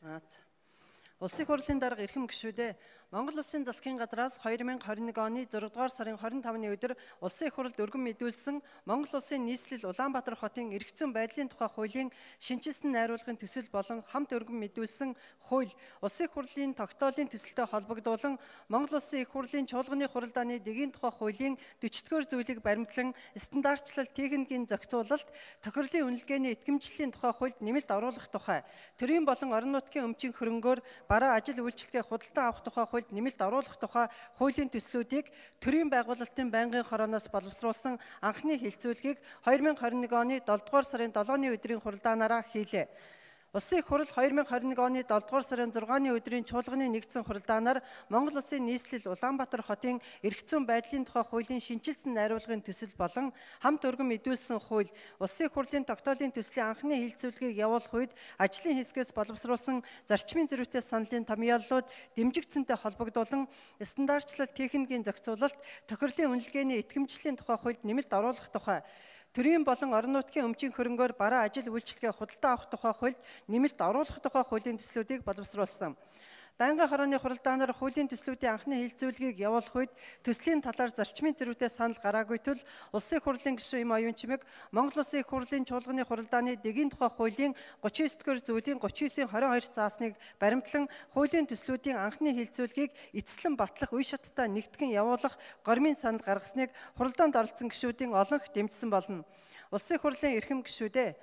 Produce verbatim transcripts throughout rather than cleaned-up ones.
Аа. Улсын хурлын дарга эрхэм гишүүдээ Монгол Улсын засгийн газраас хоёр мянга хорин нэг оны зургаадугаар сарын хорин тавны өдөр улсын их хурлд өргөн мэдүүлсэн Монгол Улсын нийслэл Улаанбаатар хотын эрх зүйн байдлын тухай хуулийн шинжилсэн найруулгын төсөл болон хамт өргөн мэдүүлсэн хууль улсын их хурлын тогтоолын төсөлтэй холбогдуулан Монгол Улсын их хурлын чуулганы хуралдааны дэгийн тухай хуулийн дөрвөлдүгээр зүйлийг баримтлан стандартчлал техникийн зохицуулалт тохирлын үнэлгээний итгэмжлэлийн тухай хуульд нэмэлт оруулах тухай төрийн болон орон нутгийн өмчийн хөрөнгөөр бараа ажил үйлчлэгээ худалдан авах тухай хуульд нэмэлт оруулах тухай хуулийн төслүүдийг төрийн байгуулалтын байнгын хорооноос боловсруулсан анхны хилцүүлгийг хоёр мянга хорин нэг оны долдугаар сарын долооны өдрийн хуралдаанаараа хийлээ. Улсын их хурл хоёр мянга хорин нэг оны долдугаар сарын зургааны өдрийн чуулганы нэгдсэн хуралдаанаар Монгол Улсын нийслэл Улаанбаатар хотын эрх зүйн байдлын тухай хуулийн шинжилсэн найруулгын төсөл болон хамт өргөн мэдүүлсэн хууль улсын их хурлын тогтоолын төслийн анхны хилцүүлгийг явуулах үед ажлын хэсгээс боловсруулсан зарчмын зэрэгтэй саналын томьёоллууд дэмжигдсэнтэй холбогдуулан стандартчлал техникийн зохицуулалт тохирлын үнэлгээний итгэмжлэлийн тухай хуульд нэмэлт оруулах тухай төрийн болон орон нутгийн өмчийн хөрөнгөөр бараа ажил үйлчлэгээ худалдан авах тухай хуульд нэмэлт оруулах тухай хуулийн төслүүдийг боловсруулсан. Байнгын хорооны хуралдаанаар хуулийн төслүүдийн анхны хилцүүлгийг явуулах үед төслийн талаар зарчмын зэрэгтэй санал гараагүй тул улсын их хурлын гишүүн эм оюун чимэг Монгол Улсын их хурлын чуулганы хуралдааны дэгийн тухай хуулийн гучин девять дугаар зүйлийн гучин девятийн хорин хоёр заасныг баримтлан хуулийн төслүүдийн анхны хилцүүлгийг эцэслэн батлах үе шаттай нэгтгэн явуулах гормын санал гаргасныг хуралдаанд оролцсон гишүүдийн олонх дэмжсэн болно. Улсын их хурлын эрхэм гишүүдээ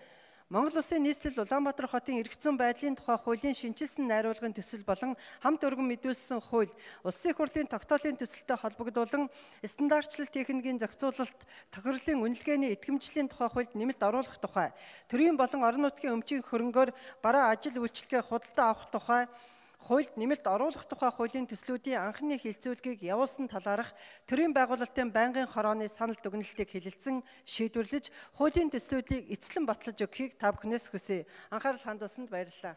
Монгол Улсын нийслэл Улаанбаатар хотын эрх зүйн байдлын тухай хуулийн шинжилсэн найруулгын төсөл болон хамт өргөн мэдүүлсэн хууль улсын их хурлын тогтоолын төсөлтэй холбогдуулан стандартчлал техникийн зохицуулалт тохирлын үнэлгээний итгэмжлэлийн тухай хуульд нэмэлт оруулах тухай төрийн болон орон нутгийн өмчийн хөрөнгөөр бараа ажил үйлчлэгээ худалдан авах тухай хуульд нэмэлт оруулах тухай хуулийн төслүүдийн анхны хилцүүлгийг явуулсан талаарх төрийн байгуулалтын байнгын хорооны санал дүгнэлтийг хэлэлцэн шийдвэрлэж хуулийн төслүүдийг эцэслэн батлаж өгөхийг та бүхнээс хүсье. Анхаарал хандуулсанд баярлалаа.